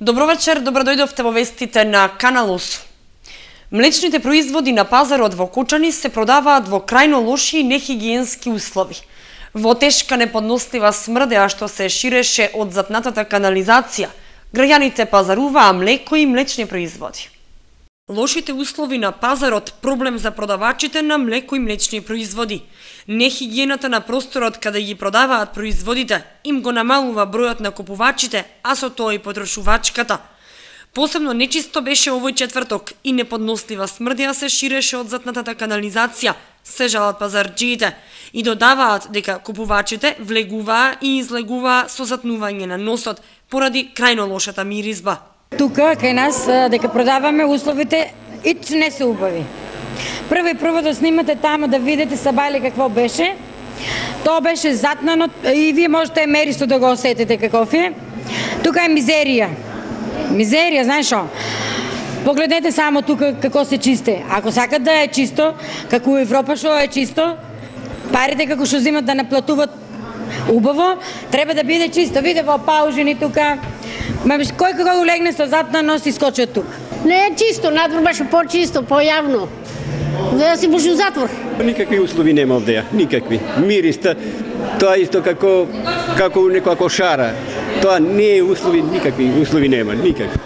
Добро вечер, добродојдовте во вестите на Канал 8. Млечните производи на пазарот во Кочани се продаваат во крајно лоши и нехигиенски услови. Во тешка неподнослива смрдеа што се ширеше од затнатата канализација, граѓаните пазаруваа млеко и млечни производи. Лошите услови на пазарот проблем за продавачите на млеко и млечни производи. Нехигиената на просторот каде ги продаваат производите им го намалува бројот на купувачите, а со тоа и потрошувачката. Посебно нечисто беше овој четврток и неподнослива смрдеа се ширеше од затнатата канализација, се жалат пазарџиите и додаваат дека купувачите влегуваа и излегуваа со затнување на носот поради крајно лошата миризба. Тука кај нас дека продаваме условите ич не се убави. Прво да снимате таму да видите сабали какво беше. Тоа беше затнано и вие можете меристо да го осетите каков е. Тука е мизерија. Мизерија, знаеш што? Погледнете само тука како се чисте. Ако сакат да е чисто, како у Европа што е чисто, парите како што земат да наплатуват убаво, треба да биде чисто. Виде во паужини тука. Кој кога улегне со затнано си скочи од тука. Не е чисто, надвор беше по-чисто, појавно. Да си буши у затвор. Никакви услови нема овде, никакви. Мириста, тоа исто како некоја кошара. Тоа не е услови, никакви услови нема, никакви.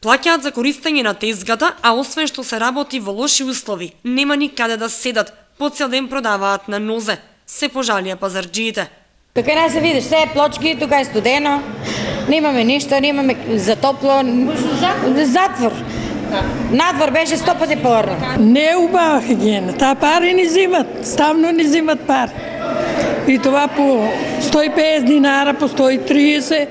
Плаќаат за користење на тезгата, а освен што се работи во лоши услови, нема никаде да седат, по цел ден продаваат на нозе. Се пожалија пазарџиите. Кај нас се видиш, се е плочки, тука е студено, немаме ништо, немаме за топло, затвор. Надвор беше 100 пати порно. Не е убава хигиена, таа пари ни зимат, ставно ни зимат пари. И това по 150 динара, по 130,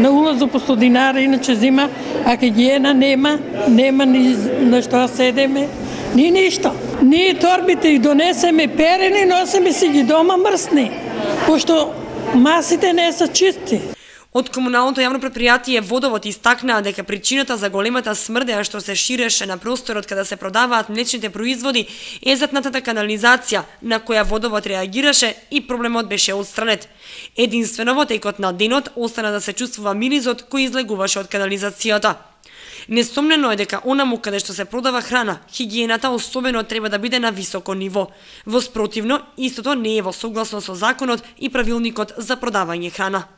на улазу по 100 динара, иначе зима, а хигиена нема ни на што седеме, ни ништо. Ние торбите их донесеме перени, носеме си ги дома мрсни, пошто масите не се чисти. Од комуналното јавно предпријатие Водовод истакнаа дека причината за големата смрдеа што се ширеше на просторот каде се продаваат млечните производи е затнатата канализација на која Водовод реагираше и проблемот беше отстранет. Единствено во текот на денот остана да се чувствува миризот кој излегуваше од канализацијата. Несомнено е дека онаму каде што се продава храна, хигиената особено треба да биде на високо ниво. Во спротивно, истото не е во согласно со законот и правилникот за продавање храна.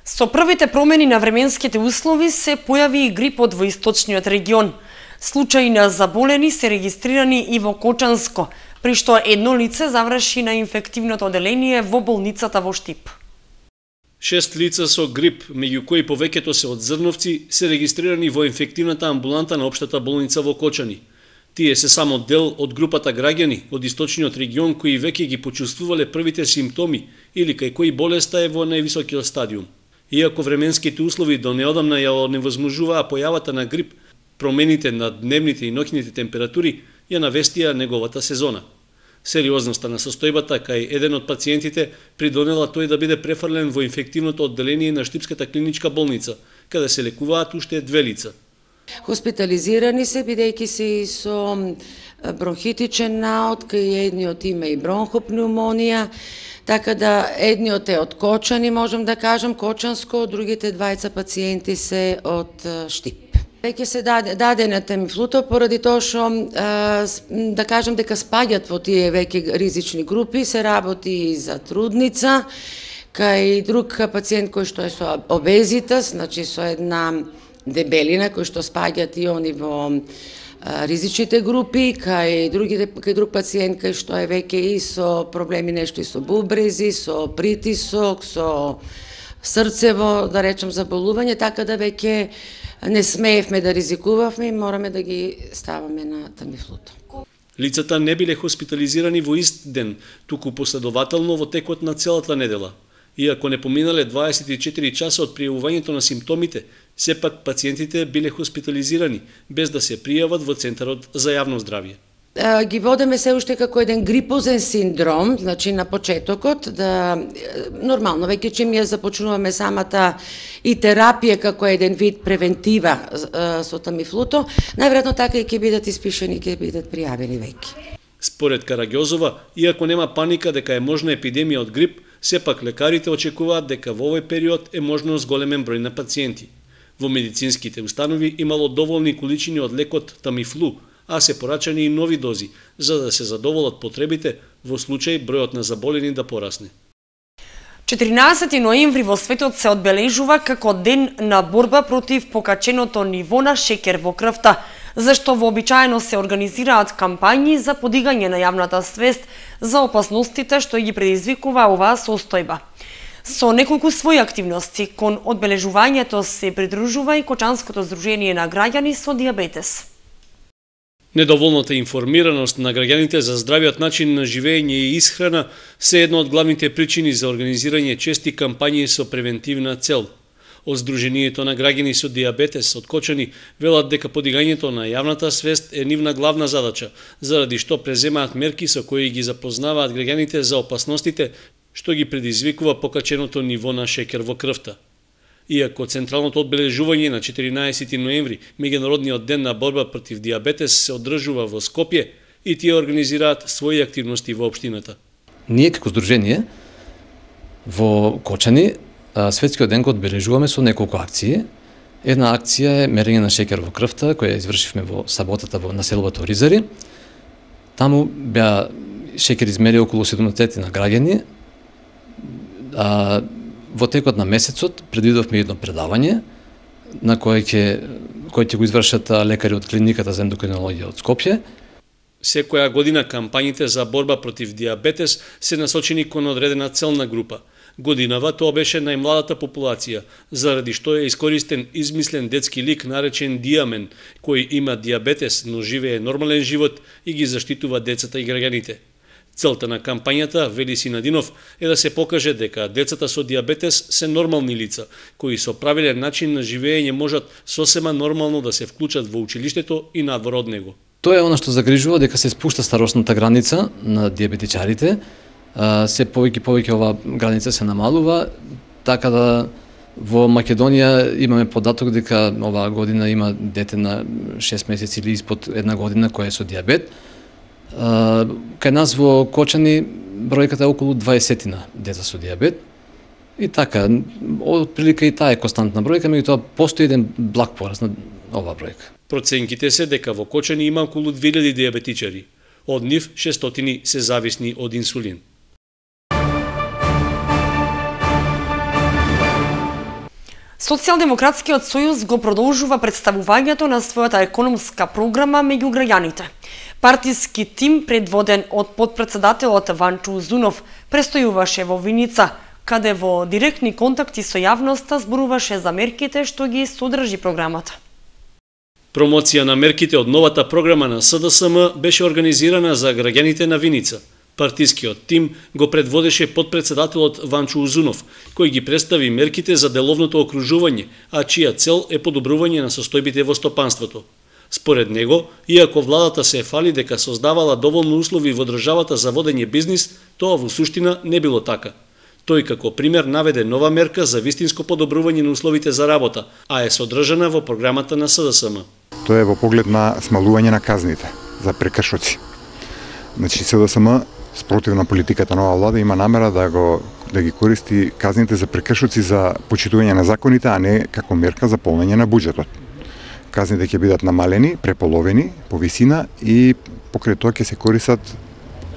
Со првите промени на временските услови се појави и грипот во источниот регион. Случаи на заболени се регистрирани и во Кочанско, при што едно лице заврши на инфективното оделение во болницата во Штип. 6 лица со грип, меѓу кои повеќето се од Зрновци, се регистрирани во инфективната амбуланта на општата болница во Кочани. Тие се само дел од групата граѓани од источниот регион кои веќе ги почувствувале првите симптоми или кај кои болеста е во највисокиот стадиум. Иако временските услови до неодамна ја оневозможуваа појавата на грип, промените на дневните и ноќните температури ја навестија неговата сезона. Сериозноста на состојбата кај еден од пациентите придонела тој да биде префрлен во инфективното одделение на Штипската клиничка болница, каде се лекуваат уште 2 лица. Хоспитализирани се бидејќи се и со бронхитичен наод, кај едниот има и бронхопнеумонија. Така да едниот е од Кочани, можам да кажам, Кочанско, другите двајца пациенти се од Штип. Веќе се даде на Тамифлуто поради тоа што да кажам дека спаѓат во тие веќе ризични групи, се работи и за трудница, кај друг пациент кој што е со обезитас, значи со една дебелина кој што спаѓат и они во ризичните групи, кај друг пациент кај што е веќе и со проблеми нешто и со бубрези, со притисок, со срцево, да речем, заболување, така да веќе не смеевме да ризикувавме и мораме да ги ставаме на Тамифлуто. Лицата не биле хоспитализирани во ист ден, туку последователно во текот на целата недела. Иако не поминале 24 часа од пријавувањето на симптомите, сепак пациентите биле хоспитализирани, без да се пријават во Центарот за јавно здравје. Ги водеме се уште како еден грипозен синдром, значи на почетокот, да нормално веќе чим ја започнуваме самата и терапија како еден вид превентива со Тамифлуто, најверојатно така и ќе бидат испишени, ќе бидат пријавени веќе. Според Караѓозова, иако нема паника дека е можна епидемија од грип, сепак лекарите очекуваат дека во овој период е можно зголемен број на пациенти. Во медицинските установи имало доволни количини од лекот Тамифлу, а се порачани и нови дози, за да се задоволат потребите во случај бројот на заболени да порасне. 14 ноември во светот се одбележува како ден на борба против покаченото ниво на шеќер во крвта, зашто вообичаено се организираат кампањи за подигање на јавната свест за опасностите што ги предизвикува оваа состојба. Со неколку своји активности кон одбележувањето се придружува и Кочанското здружение на граѓани со дијабетес. Недоволната информираност на граѓаните за здравиот начин на живење и исхрана се една од главните причини за организирање чести кампањи со превентивна цел. Од Сдруженијето на граѓани со дијабетес од Кочани велат дека подигањето на јавната свест е нивна главна задача, заради што преземаат мерки со кои ги запознаваат граѓаните за опасностите што ги предизвикува покаченото ниво на шеќер во крвта. Иако централното одбележување на 14 ноември, меѓународниот ден на борба против дијабетес, се одржува во Скопје, и тие организираат своји активности во општината. Ние како здружение во Кочани светскиот ден го одбележуваме со неколку акции. Една акција е мерење на шеќер во крвта, која извршивме во саботата во населбото Ризари. Таму беа шеќер измери околу 70 на граѓани. Во текот на месецот предвидовме едно предавање на кое ќе го извршат лекари од клиниката за ендокринологија од Скопје. Секоја година кампањите за борба против дијабетес се насочени кон одредена целна група. Годинава тоа беше најмладата популација, заради што е искористен измислен детски лик наречен Диамен, кој има дијабетес, но живее нормален живот и ги заштитува децата и граѓаните. Целта на кампањата, вели Синадинов, е да се покаже дека децата со дијабетес се нормални лица, кои со правилен начин на живење можат сосема нормално да се вклучат во училиштето и надвор од него. Тоа е она што загрижува, дека се спушта старосната граница на дијабетичарите. Се повеќе оваа граница се намалува, така да во Македонија имаме податок дека оваа година има дете на 6 месеци или испод една година кој е со дијабет. Кај нас во Кочани бројката е околу 20 деца со дијабет. И така, отприлика и таа е константна бројка, меѓутоа постои еден благ пораст на оваа бројка. Проценките се дека во Кочани има околу 2000 дијабетичари. Од нив 600 се зависни од инсулин. Социјалдемократскиот сојуз го продолжува представувањето на својата економска програма меѓу граѓаните. Партиски тим, предводен од подпредседателот Ванчо Узунов, престојуваше во Виница, каде во директни контакти со јавноста зборуваше за мерките што ги содржи програмата. Промоција на мерките од новата програма на СДСМ беше организирана за граѓаните на Виница. Партискиот тим го предводеше подпредседателот Ванчо Узунов, кој ги представи мерките за деловното окружување, а чија цел е подобрување на состојбите во стопанството. Според него, иако владата се фали дека создавала доволно услови во државата за водење бизнис, тоа во суштина не било така. Тој како пример наведе нова мерка за вистинско подобрување на условите за работа, а е содржана во програмата на СДСМ. Тоа е во поглед на смалување на казните за прекршоци. Значи СДСМ, спротив на политиката на оваа влада, има намера да ги користи казните за прекршоци за почитување на законите, а не како мерка за полнење на буџетот. Казните ќе бидат намалени, преполовени по висина и покрај тоа ќе се користат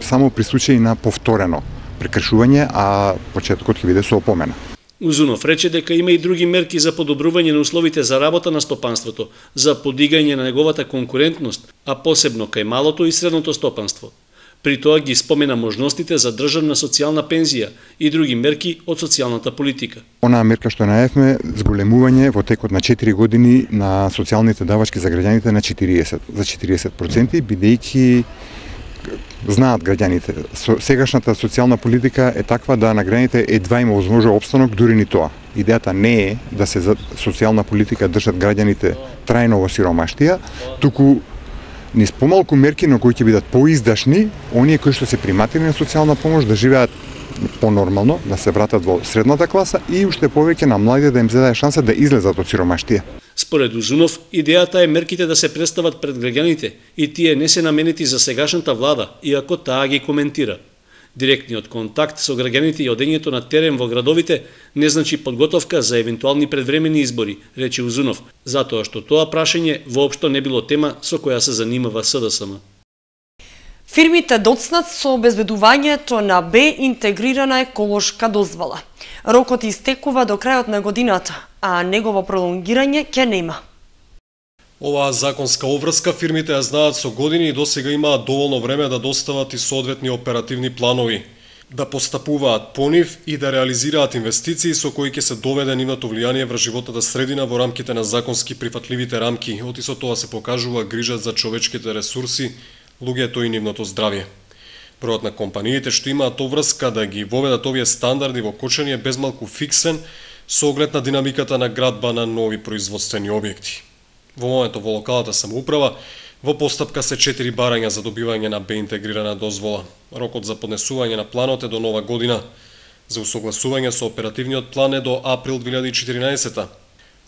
само при случаи на повторено прекршување, а почетокот ќе биде со опомена. Узунов рече дека има и други мерки за подобрување на условите за работа на стопанството, за подигање на неговата конкурентност, а посебно кај малото и средното стопанство. При тоа ги спомена можностите за државна социјална пензија и други мерки од социјалната политика. Онаа мерка што најавме, зголемување во текот на 4 години на социјалните давачки за граѓаните на 40%, бидејќи знаат граѓаните, сегашната социјална политика е таква да на граѓаните едва има возможен опстанок, дури ни тоа. Идејата не е да се за социјална политика држат граѓаните трајно во сиромаштија, туку низ помалку мерки на кои ќе бидат поиздашни, оние кои што се приматени на социјална помош да живеат понормално, да се вратат во средната класа и уште повеќе на младите да им се даде шанса да излезат од сиромаштија. Според Узунов, идејата е мерките да се представат пред граѓаните и тие не се наменети за сегашната влада, иако таа ги коментира. Директниот контакт со граѓаните и одењето на терен во градовите не значи подготовка за евентуални предвремени избори, рече Узунов, затоа што тоа прашање воопшто не било тема со која се занимава СДСМ. Фирмите доцнат со обезбедувањето на Б интегрирана еколошка дозвола. Рокот истекува до крајот на годината, а негово пролонгирање ќе нема. Оваа законска обврска фирмите ја знаат со години и досега имаат доволно време да достават и соодветни оперативни планови, да постапуваат по нив и да реализираат инвестиции со кои ќе се доведе нивното влијание врз животната средина во рамките на законски прифатливите рамки, оти со тоа се покажува грижа за човечките ресурси, луѓето и нивното здравје. Бројот на компаниите што имаат обврска да ги воведат овие стандарди во Кочани е безмалку фиксен со оглед на динамиката на градба на нови производствени објекти. Во моментот во локалната самоуправа во постапка се 4 барања за добивање на Б интегрирана дозвола. Рокот за поднесување на планот е до нова година. За усогласување со оперативниот план е до април 2014.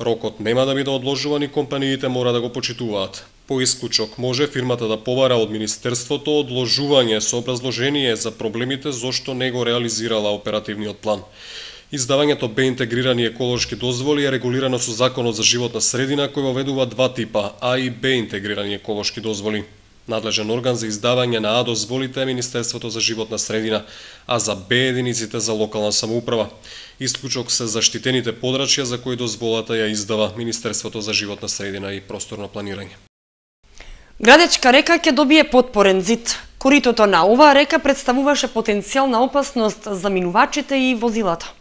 Рокот нема да биде одложуван и компаниите мора да го почитуваат. По исклучок може фирмата да побара од Министерството одложување со образложение за проблемите зошто не го реализирала оперативниот план. Издавањето Б интегрирани еколошки дозволи е регулирано со Законот за животна средина кој воведува два типа А и Б интегрирани еколошки дозволи. Надлежен орган за издавање на А дозволите е Министерството за животна средина, а за Б единиците за локална самоуправа. Исклучок се заштитените подрачја за кои дозволата ја издава Министерството за животна средина и просторно планирање. Градечка река ќе добие подпорен зид. Коритото на оваа река представуваше потенцијална опасност за минувачите и возилата.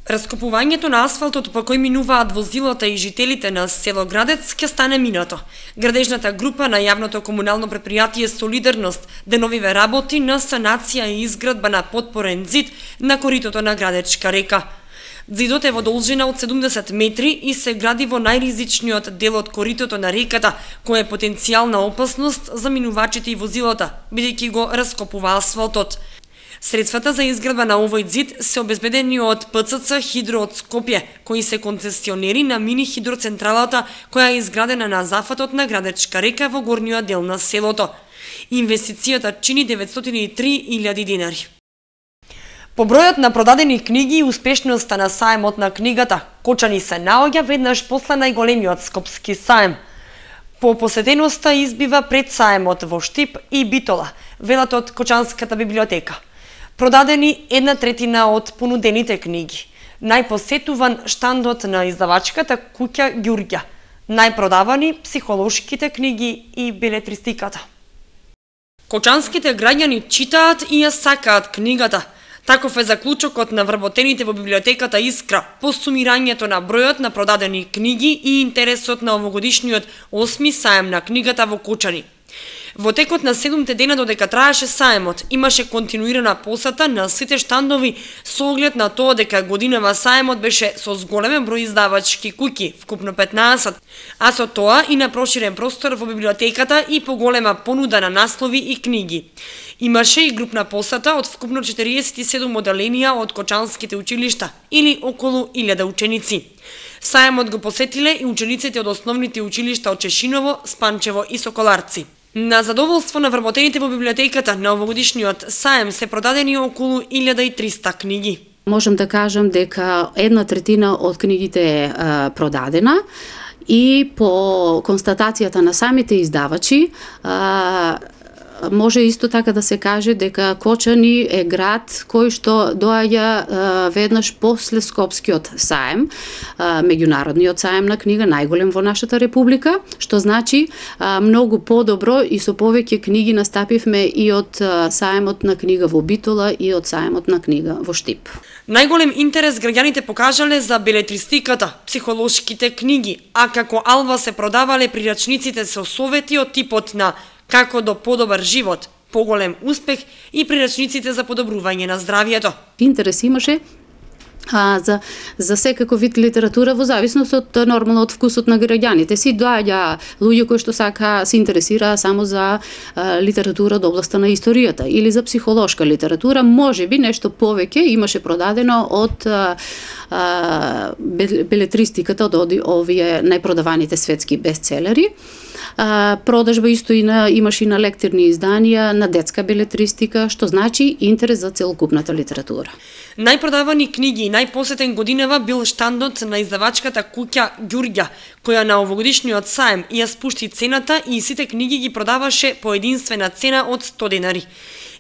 Раскопувањето на асфалтот по кој минуваат возилата и жителите на село Градец ќе стане минато. Градежната група на јавното комунално предпријатие Солидарност деновиве работи на санација и изградба на подпорен зид на коритото на Градечка река. Зидот е во должина од 70 метри и се гради во најризичниот дел од коритото на реката, која е потенцијална опасност за минувачите и возилата, бидејќи го раскопува асфалтот. Средствата за изградба на овој зид се обезбедени од ПЦЦ Хидро од Скопје, кои се концесионери на мини хидроцентралата која е изградена на зафатот на Градечка река во горниот дел на селото. Инвестицијата чини 903.000 денари. По бројот на продадени книги и успешноста на саемот на книгата, Кочани се наоѓа веднаш после најголемиот скопски саем. По посетеноста избива пред саемот во Штип и Битола, велат од Кочанската библиотека. Продадени 1/3 од понудените книги. Најпосетуван штандот на издавачката куќа Ѓурѓа. Најпродавани психолошките книги и белетристиката. Кочанските граѓани читаат и ја сакаат книгата. Таков е заклучокот на вработените во библиотеката Искра по сумирањето на бројот на продадени книги и интересот на овогодишниот 8ми саем на книгата во Кочани. Во текот на 7 дена додека траеше саемот, имаше континуирана посета на сите штандови со оглед на тоа дека годинава саемот беше со зголемен број издавачки куќи, вкупно 15, а со тоа и на проширен простор во библиотеката и поголема понуда на наслови и книги. Имаше и групна посета од вкупно 47 оделенија од кочанските училишта, или околу 1000 ученици. Саемот го посетиле и учениците од основните училишта од Чешиново, Спанчево и Соколарци. На задоволство на вработените во библиотеката на овогодишниот саем се продадени околу 1300 книги. Можам да кажам дека 1/3 од книгите е продадена и по констатацијата на самите издавачи може исто така да се каже дека Кочани е град кој што доаѓа веднаш после Скопскиот саем, меѓународниот саем на книга, најголем во нашата република, што значи многу подобро и со повеќе книги настапивме и од саемот на книга во Битола и од саемот на книга во Штип. Најголем интерес граѓаните покажале за белетристиката, психолошките книги, а како алва се продавале прирачниците со совети од типот на како до подобар живот, поголем успех и прирачниците за подобрување на здравјето. Интерес имаше за секако вид литература во зависност од нормално од вкусот на граѓаните. Си доаѓа луѓе кои што се интересира само за литература од областа на историјата или за психолошка литература, можеби нешто повеќе имаше продадено од белетристиката, од овие најпродаваните светски бестселери. Продажба исто имаше и на лектирни изданија, на детска белетристика, што значи интерес за целокупната литература. Најпродавани книги и најпосетен годинава бил штандот на издавачката куќа Ѓурѓа, која на овогодишниот саем ја спушти цената и сите книги ги продаваше по единствена цена од 100 денари.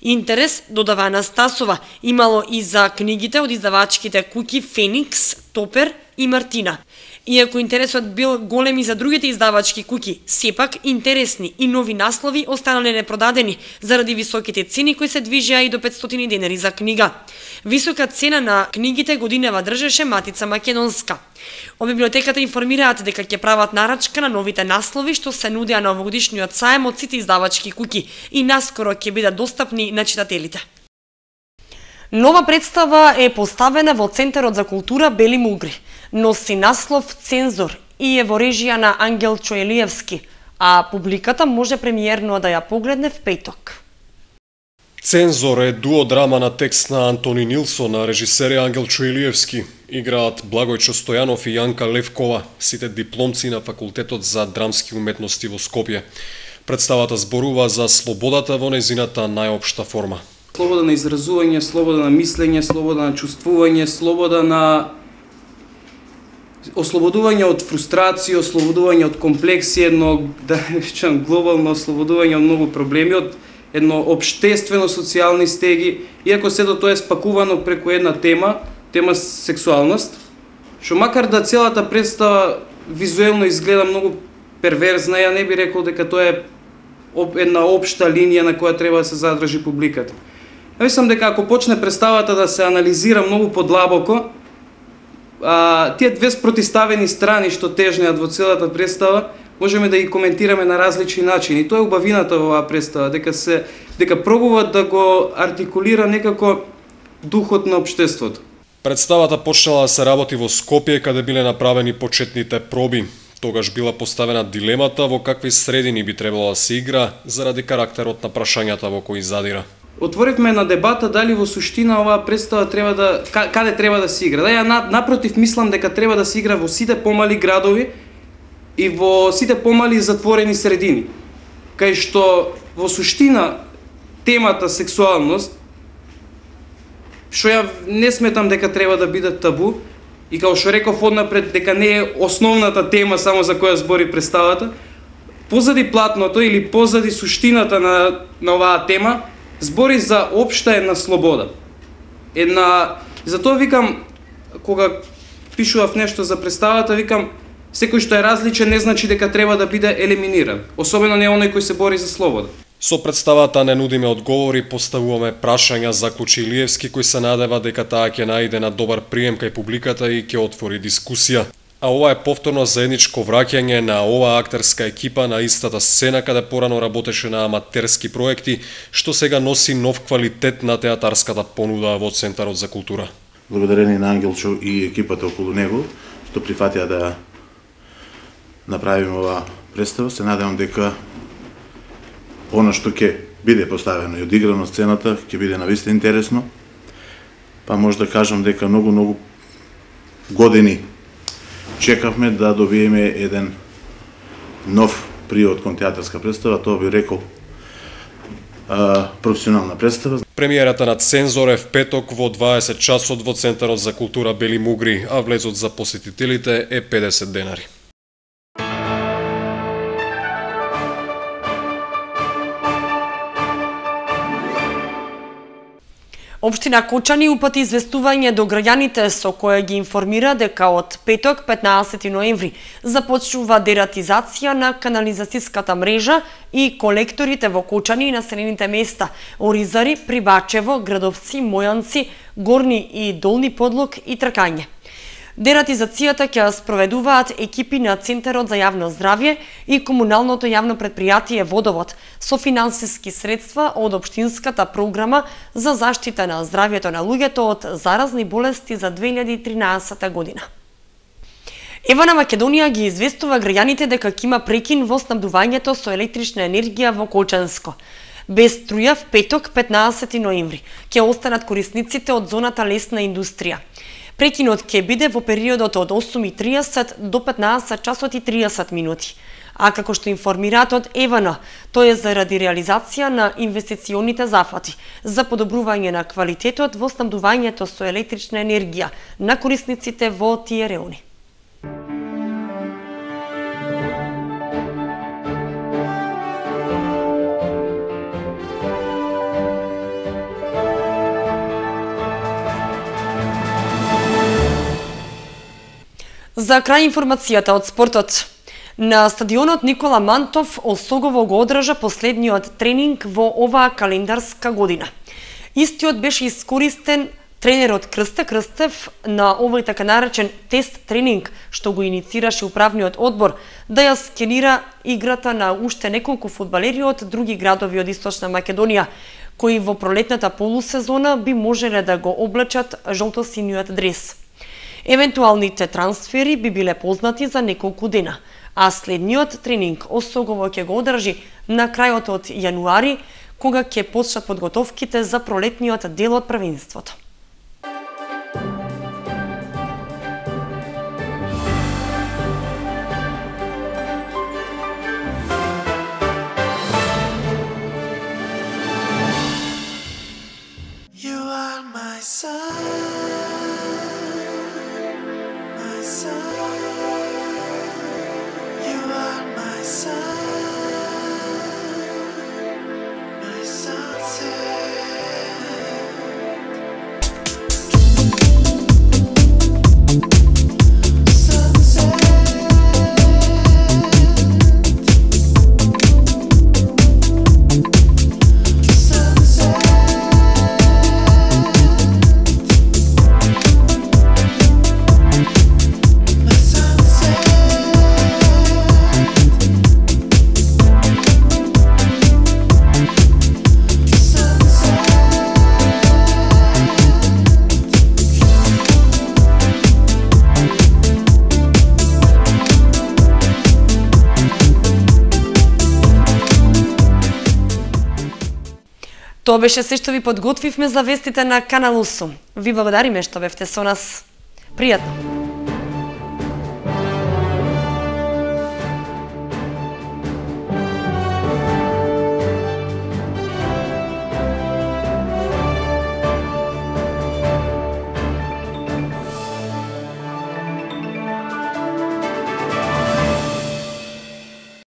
Интерес, додава Анастасова, имало и за книгите од издавачките куќи Феникс, Топер и Мартина. Иако интересот бил голем и за другите издавачки куќи, сепак интересни и нови наслови останале непродадени заради високите цени кои се движеа и до 500 денари за книга. Висока цена на книгите годинава држеше Матица Македонска. Од библиотеката информираат дека ќе прават нарачка на новите наслови што се нудеа на овогодишниот саем од сите издавачки куќи и наскоро ќе бидат достапни на читателите. Нова представа е поставена во Центарот за култура Бели Мугри. Носи наслов Цензор и е во режија на Ангел Чоелиевски, а публиката може премиерно да ја погледне в петок. Цензор е дуодрама на текст на Антони Нилсон, на режисери Ангел Чоелиевски. Играат Благојчо Стојанов и Јанка Левкова, сите дипломци на Факултетот за драмски уметности во Скопје. Представата зборува за слободата во нејзината најопшта форма. Слобода на изразување, слобода на мислење, слобода на чувствување, слобода на ослободување од фрустрација, ослободување од комплекси, едно, да речам, глобално ослободување од многу проблеми, од едно обштествено социјални стеги, иако сето тоа е спакувано преку една тема сексуалност, што макар да целата представа визуелно изгледа многу перверзна, ја не би рекол дека тоа е една општа линија на која треба да се задржи публиката. Мислам дека ако почне представата да се анализира многу подлабоко, тие две спротиставени страни што тежнеат во целата представа, можеме да ги коментираме на различни начини. Тоа е убавината во оваа представа, дека пробува да го артикулира некако духот на општеството. Представата почнала да се работи во Скопје, каде биле направени почетните проби. Тогаш била поставена дилемата во какви средини би требало да се игра заради карактерот на прашањата во кои задира. Отворивме на дебата дали во суштина оваа представа треба каде треба да се игра. Да, ја напротив мислам дека треба да се игра во сите помали градови и во сите помали затворени средини. Кај што во суштина темата сексуалност, што ја не сметам дека треба да биде табу, и како што реков однапред дека не е основната тема само за која збори представата, позади платното или позади суштината на оваа тема, збори за општа една слобода. Затоа викам, кога пишував нешто за представата, викам, секој што е различен не значи дека треба да биде елиминиран, особено не оној кој се бори за слобода. Со представата не нудиме одговори, поставуваме прашања, заклучи Илиевски, кој се надева дека таа ќе најде на добар прием кај публиката и ќе отвори дискусија. А ова е повторно заедничко враќање на оваа актерска екипа на истата сцена каде порано работеше на аматерски проекти, што сега носи нов квалитет на театарската понуда во Центарот за култура. Благодарение на Ангелчо и екипата околу него, што прифатија да направиме оваа представа, се надевам дека она што ќе биде поставено и одиграно сцената ќе биде навистина интересно. Па може да кажам дека многу години чекавме да добиеме еден нов приод кон театарска представа, тоа би рекол професионална представа. Премиерата на Цензор е в петок во 20 часот во Центарот за култура Бели Мугри, а влезот за посетителите е 50 денари. Општина Кочани упати известување до граѓаните со кое ги информира дека од петок 15 ноември започнува дератизација на канализацијската мрежа и колекторите во Кочани и населените места Оризари, Прибачево, Градовци, Мојанци, Горни и Долни Подлог и Тркање. Дератизацијата ќе спроведуваат екипи на Центарот за јавно здравје и комуналното јавно предпријатие Водовод со финансиски средства од општинската програма за заштита на здравјето на луѓето од заразни болести за 2013 година. Ева на Македонија ги известува граѓаните дека ќе има прекин во снабдувањето со електрична енергија во Кочанско. Без струја в петок 15 ноември ќе останат корисниците од зоната лесна индустрија. Прекинот ќе биде во периодот од 8:30 до 15 часот и 30 минути. А како што информираат од ЕВН, тоа е заради реализација на инвестиционите зафати за подобрување на квалитетот во снабдувањето со електрична енергија на корисниците во тие реони. За крај информацијата од спортот. На стадионот Никола Мантов Осогово го одржа последниот тренинг во оваа календарска година. Истиот беше искористен тренерот Крсте Крстев на овој така наречен тест тренинг што го иницираше управниот одбор да ја скенира играта на уште неколку фудбалери од други градови од Источна Македонија, кои во пролетната полусезона би можеле да го облечат жолтосиниот дрес. Евентуалните трансфери би биле познати за неколку дена, а следниот тренинг Осогово ќе го одржи на крајот од јануари, кога ќе почнат подготовките за пролетниот дел од првенството. You are my sun. Тоа беше се што ви подготвивме за вестите на Канал 8. Ви благодариме што бевте со нас. Пријатно!